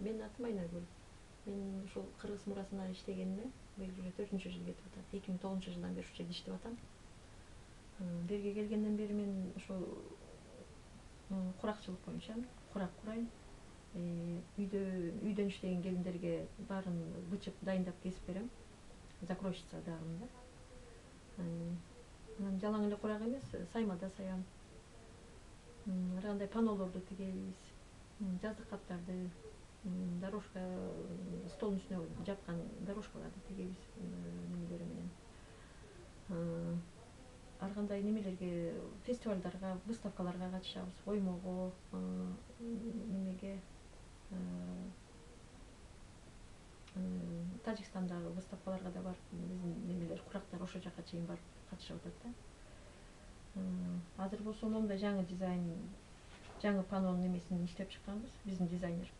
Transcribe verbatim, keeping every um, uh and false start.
Менин атым Айнагүл. Мен ушул Кыргыз мурасына иштегениме быйыл уже төртүнчү жыл кетип атат. эки миң тогузунчу жылдан бери ушул жерде иштеп атам. Берге келгенден бери мен ошол куракчылык боюнча курак курайм. Үйдө үйдөн иштеген келиндерге баарын бычып дайындап кесип берем. Закройщица дагымын да. Анан жалаң эле курак эмес, сайма да саям. Ар кандай панолорду тигебиз, жаздык каптарды, дорожка, столдун үстүнө жапкан дорожкаларды тигебиз немелери менен. Ар кандай немелерге, фестивалдарга, выставкаларга катышабыз, оймого, немеге, Тажикстандагы выставкаларга да барып, биздин немелер, курактар ошол жака чейин барып катышып атат да. Азыр болсо момундай жаңы дизайн, жаңы панонун немесин иштеп чыкканбыз, биздин дизайнер.